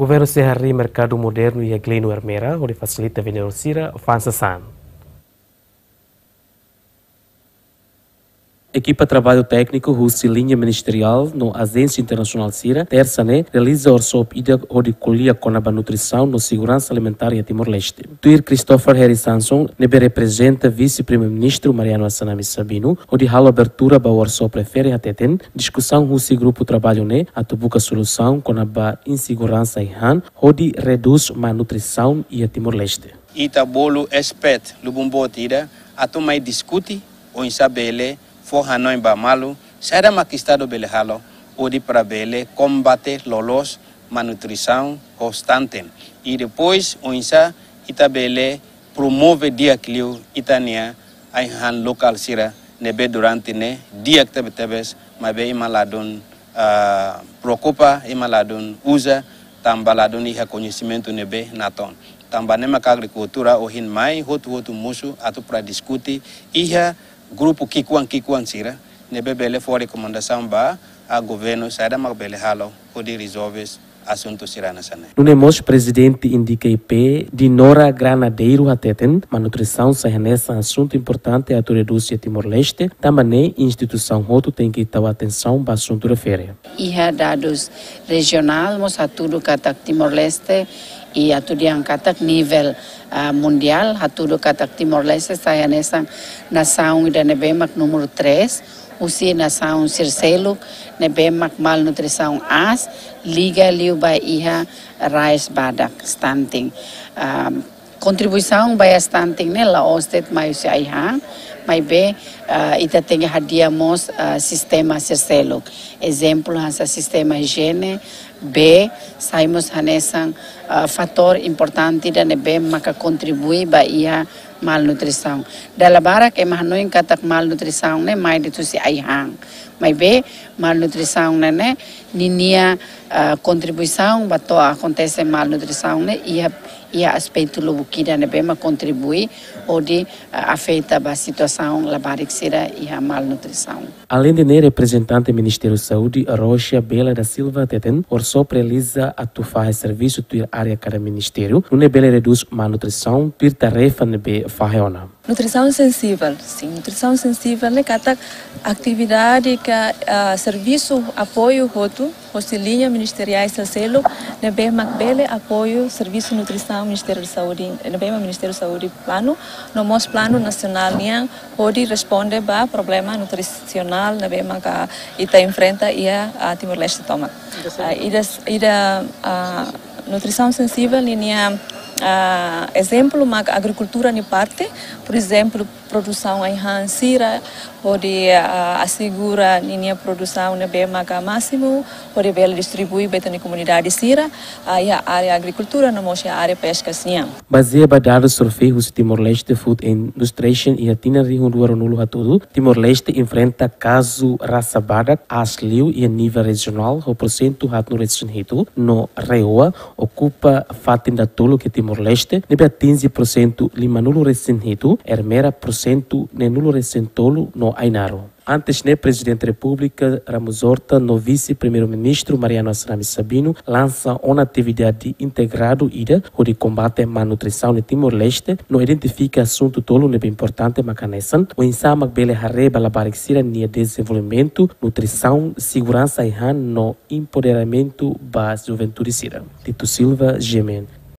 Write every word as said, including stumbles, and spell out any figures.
Governu sei harii merkadu modernu iha Gleno Ermera hodi fasilita vendedór sira fa'an sasán. Ekipa traballu tékniku husi liña ministeriál no ajénsia internasionál sira, tersa ne'e, realiza workshop ida hodi ko'alia kona-ba nutrisaun no seguransa alimentár iha Timor-Leste. Tuir Christopher Harry Samson, ne'ebé reprezenta Vise-Primeiru-Ministru Mariano Assanami Sabino, hodi halo abertura ba workshop refere hateten, diskusaun husi grupu traballu ne'e atu buka solusaun kona-ba inseguransa ai-han hodi redús malnutrisaun iha Timor-Leste. Ita bolu espert lubun boot ida atu mai diskute oinsá bele fó hanoin ba malu, saida mak Estadu bele halo hodi para bele kombate loloos malnutrisaun ho stunting. I depois oinsá ita bele promove di'ak liu ita-nia ai-han lokál sira ne'ebé durante ne'e di'ak tebetebes, maibé ema ladún, ah, preokupa, ema ladún uza, tanba ladún iha koñesimentu ne'ebé natoon. Tanba ne'e maka agrikultura ohin mai hotu-hotu mosu atu para diskute iha grupu ki'ikoan-ki'ikoan sira ne'ebé bele fó rekomendasaun ba governu saida mak bele halo hodi rezolve asuntu sira hanesan ne'e. Nune'e mós prezidente INDICA I P, Dinora Granadeiru hateten, malnutrisaun sai hanesan asuntu importante atu redús iha Timor-Leste, tanba ne'e instituisaun hotu tenke tau atensaun ba asuntu refere. Iha dadus rejionál mós hatudu katak Timor-Leste, i atu dehan katak nivel, ah, mundiál, hatudu katak Timor-Leste sai hanesan nasaun ida ne'ebé mak númeru três, husi nasaun sira seluk ne'ebé mak malnutrisaun aas, liga liu ba iha rais badak, stunting. Ah, kontribuisaun ba iha stunting ne'e la'ós de'it mai husi ai-han, maibé, ah, ita tenke hadi'a mós, ah, sistema sira seluk. Ezemplu hanesan sistema ijiene, bee, sai mós hanesan, ah, fatór importante ida ne'ebé maka kontribui ba iha malnutrisaun. Dala barak ema hanoin katak malnutrisaun ne'e mai de'it husi ai-han. Maibé malnutrisaun ne'e, ne'e ninia, ah, kontribuisaun ba to'o akontese malnutrisaun ne'e iha, iha aspetu lubuk ida ne'ebé mak kontribui hodi, ah, afeta ba situasaun labarik sira iha malnutrisaun. Aleinde ne'e, reprezentante Ministériu Saúde, Rocha Bela da Silva, hateten, workshop realiza atu fahe servisu tuir área kada ministériu, nune'e bele redús malnutrisaun tuir tarefa ne'ebé fahe ona. Nutrisaun sensivel, sin, nutrisaun sensivel ne'e katak atividade ka, ah, servisu apoiu hotu, hosi liña ministeriál sira seluk, ne'ebé mak bele apoiu servisu nutrisaun Ministériu Saúde, ne'ebé mak Ministériu Saúde planu, no mós planu nasionál nian, hodi responde ba problema nutrisionál ne'ebé maka ita enfrenta iha, ah, Timor-Leste tomak. Ah, ida, ida, ah, nutrisaun sensivel ninia, ah, ezemplu mak agrikultura nia parte, por ezemplu, produsaun ai-han sira, hodi, ah, asegura ninia produsaun ne'ebé maka másimu, hodi bele distribui ba ita-nia komunidade sira, ah, iha área agrikultura, no mós iha área peska nian. Bazeia ba dadus sorveiu husi Timor-Leste Food Administration iha tinan rihun rua ruanulu hatudu, Timor-Leste enfrenta kazu rasa badak aas liu iha nivel rejionál ho porsentu haatnulu resin hitu, no RAEOA okupa fatin datoluk iha Timor-Leste, ne'ebé atinje porsentu limanulu resin hitu, Ermera porsentu neenulu resin tolu no Ainaro. Antes ne'e, Prezidente Repúblika Ramos Horta no Vise-Primeiru-Ministru Mariano Assanami Sabino lansa ona atividade integradu ida hodi kombate malnutrisaun iha Timor-Leste no identifika asuntu tolu ne'ebé importante mak hanesan, oinsá mak bele haree ba labarik sira-nia dezenvolvimentu, nutrisaun, seguransa ai-han no empoderamentu ba juventude sira. Tito Silva, G M N.